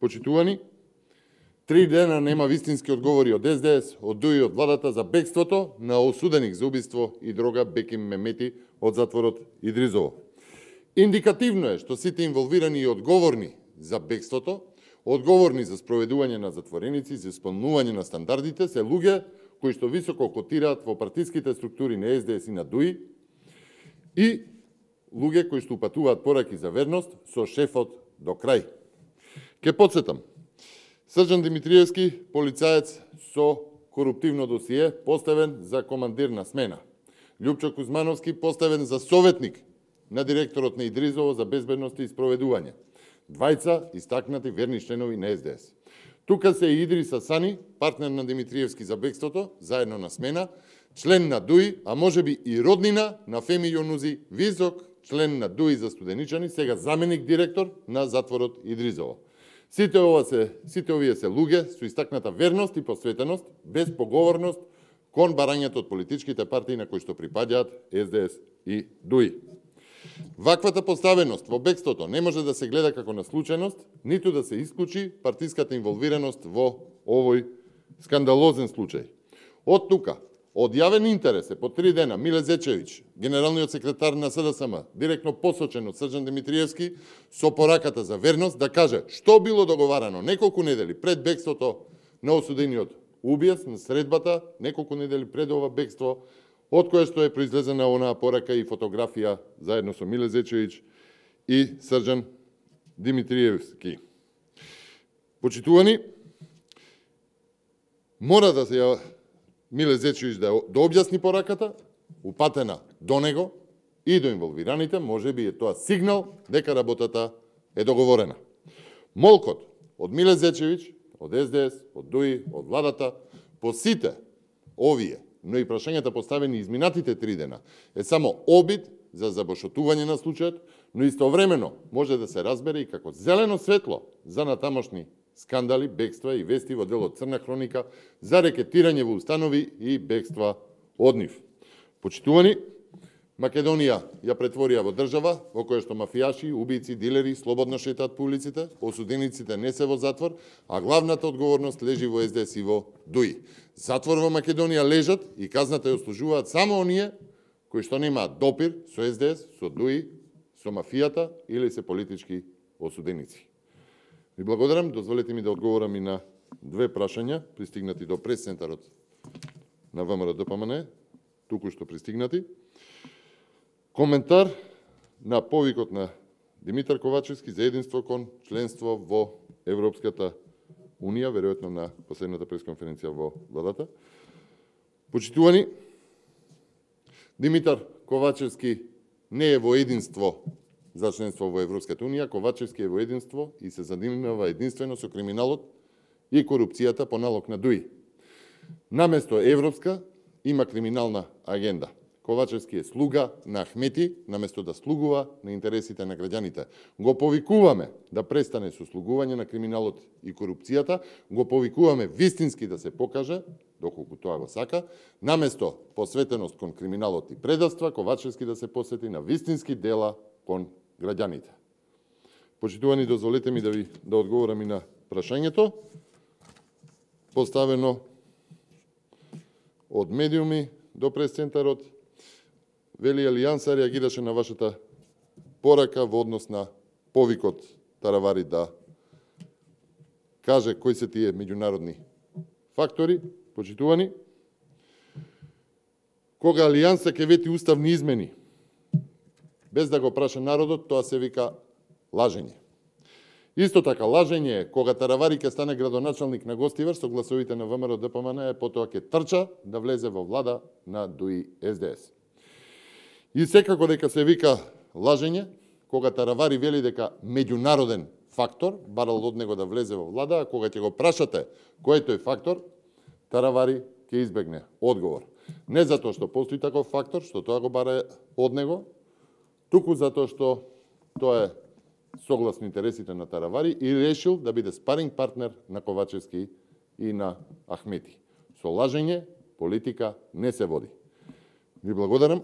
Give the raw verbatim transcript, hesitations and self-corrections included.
Почитувани, три дена нема вистински одговори од Ес Де Ес, од ДУИ, од владата за бегството на осуденик за убиство и дрога Беким Мемети од затворот Идризово. Индикативно е што сите инволвирани и одговорни за бегството, одговорни за спроведување на затвореници, за исполнување на стандардите, се луѓе кои што високо котираат во партиските структури на Ес Де Ес и на ДУИ и луѓе кои што упатуваат пораки за верност со шефот до крај. Ке подсетам, Срđan Димитриевски, полицаец со коруптивно досие, поставен за командир на смена. Љупчо Кузмановски, поставен за советник на директорот на Идризово за безбедност и спроведување. Двајца истакнати верни членови на Ес Де Ес. Тука се и Идриса Сани, партнер на Димитриевски за бегството, заедно на смена, член на ДУИ, а можеби и роднина на Феми Јонузи, висок член на ДУИ за Студеничани, сега заменик директор на затворот Идризово. Сите, ова се, сите овие се луѓе со истакната верност и посветеност, без поговорност кон барањето од политичките партии на кои што припаѓаат Ес Де Ес и ДУИ. Ваквата поставеност во бегството не може да се гледа како на случајност, ниту да се исклучи партиската инволвираност во овој скандалозен случај. Од тука, од јавен интерес е по три дена Миле Зечевиќ, генералниот секретар на С Д С М, директно посочен од Срđan Димитриевски, со пораката за верност, да каже што било договарано неколку недели пред бегството на осудениот убиец, на средбата, неколку недели пред ова бегство, од кое што е произлезена онаа порака и фотографија заедно со Миле Зечевиќ и Срđan Димитриевски. Почитувани, мора да се Миле Зечевиќ да, да објасни пораката, упатена до него и до инволвираните, може би е тоа сигнал дека работата е договорена. Молкот од Миле Зечевиќ, од Ес Де Ес, од ДУИ, од владата, по сите овие, но и прашањата поставени изминатите три дена, е само обид за забошотување на случајот, но истовремено може да се разбере и како зелено светло за натамошни скандали, бегства и вести во делот Црна хроника за рекетирање во установи и бегства од нив. Почитувани, Македонија ја претворија во држава во која што мафијаши, убијци, дилери слободно шетаат по улиците, осудениците не се во затвор, а главната одговорност лежи во Ес Де Ес и во ДУИ. Затвор во Македонија лежат и казната ја ослужуваат само оние кои што немаат допир со Ес Де Ес, со ДУИ, со мафијата или се политички осуденици. Ви благодарам, дозволете ми да одговорам и на две прашања пристигнати до прес-центарот на Вэ М Р Д П М Н, туку што пристигнати. Коментар на повикот на Димитар Ковачевски за единство кон членство во Европската Унија, веројатно на последната пресконференција во владата. Почитувани, Димитар Ковачевски не е во единство за членство во Европската Унија, Ковачевски е во единство и се занимава единствено со криминалот и корупцијата по налог на ДУИ. Наместо европска има криминална агенда. Ковачевски е слуга на Ахмети, наместо да слугува на интересите на граѓаните. Го повикуваме да престане со слугување на криминалот и корупцијата, го повикуваме вистински да се покаже, доколку тоа го сака, наместо посветеност кон криминалот и предавства, Ковачевски да се посвети на вистински дела кон граѓаните. Почитувани, дозволете ми да ви да одговорам и на прашањето поставено од медиуми до прес-центарот. Вели Алијанса реагираше на вашата порака во однос на повикот Таравари да каже кои се тие меѓународни фактори. Почитувани, кога Алијанса ќе вети уставни измени без да го праша народот, тоа се вика лажење. Исто така, лажење е кога Таравари ќе стане градоначалник на Гостивар со гласовите на Вэ М Р Д П М Н, потоа ќе трча да влезе во влада на ДУИ Ес Де Ес. И секако дека се вика лажење, кога Таравари вели дека меѓународен фактор барал од него да влезе во влада, а кога ќе го прашате кој е тој фактор, Таравари ќе избегне одговор. Не затоа што постои таков фактор, што тоа го бара од него, туку затоа што тоа е согласно интересите на Таравари и решил да биде спаринг партнер на Ковачевски и на Ахмети. Со лажење политика не се води. Ви благодарам.